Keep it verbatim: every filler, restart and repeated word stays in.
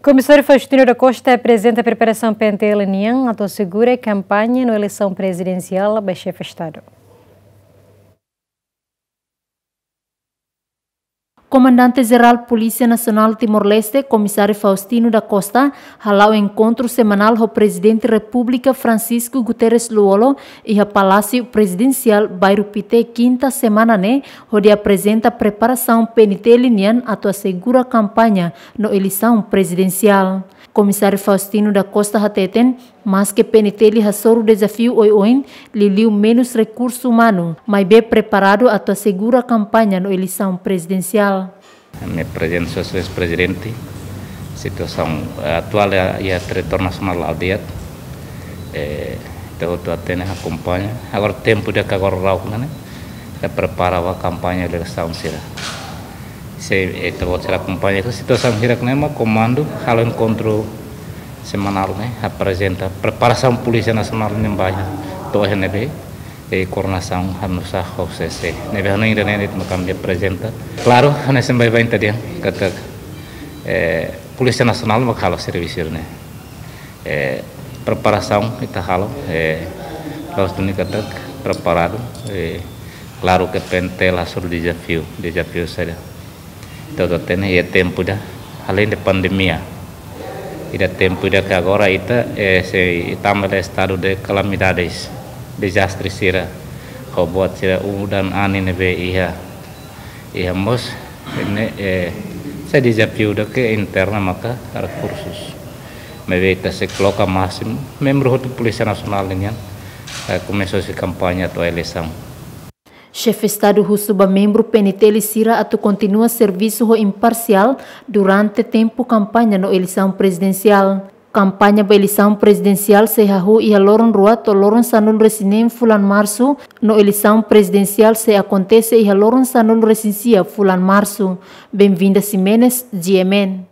Komisáriu Faustino da Costa aprezenta preparasaun P N T L nian atu asegura kampaña no eleisaun prezidensiál ba Xefe Estadu. Komandante Jerál Polísia Nasionál Timor-Leste, Komisáriu Faustino da Costa, hala'o enkontru semanál ho Prezidente Repúblika Francisco Guterres Lú-Olo iha Palásiu Prezidensiál, Bairru Pité, kinta semana ne'e, hodi aprezenta preparasaun P N T L nian atu asegura kampaña no eleisaun prezidensiál. Komisáriu Faustino da Costa hateten, maske P N T L hasoru dezafiu oioin, liuliu menus rekursu umanu, maibé preparadu atu asegura kampaña no eleisaun prezidensiál. Ami aprezenta Señór Prezidente situasaun, eh, atuál iha, iha territóriu nasionál la'o di'ak. Eh, ita hotu hatene, akompaña. Agora tempu ida ke agora la'o ne'e, ita prepara ba kampaña eleisaun sira. Se, eh, ita-boot sira akompaña situasaun hirak ne'e mak komandu halo enkontru semanál ne'e, aprezenta preparasaun Polísia Nasionál nian ba iha, to'o iha ne'ebé, eh, koordenasaun halo nu'usá ho C C. Ne'ebé hanoin ida-ne'e de'it mak ami aprezenta. Klaru, hanesan baibain ita dehan katak, eh, Polísia Nasionál mak halo servisu ne'e. Eh, preparasaun ita halo, eh, la'ós duni katak preparadu, eh, klaru ke P N T L hasoru dezafiu, dezafiu sira. Ita hotu hatene iha tempu ida, aleinde pandemia, iha tempu ida ke agora ita, eh, sei tama iha estadu de kalamidades, dezastre sira, ho buat sira udan anin ne'ebé iha, iha mós, ne'e, eh, sai dezafiu ida ke interna maka rekursus. Maibé ita sei koloka másimu, membru hotu Polísia Nasionál nian, eh, komesa husi kampaña to'o eleisaun. Xefe Estadu husu ba membru P N T L sira atu kontinua servisu ho imparsiál durante tempu kampaña no eleisaun prezidensiál. Kampaña ba eleisaun prezidensiál sei hahú iha loron rua to'o loron sanulu-resin-neen fulan Marsu, no eleisaun prezidensiál sei akontese iha loron sanulu-resin-sia fulan Marsu. Benvinda Ximenes, G M N.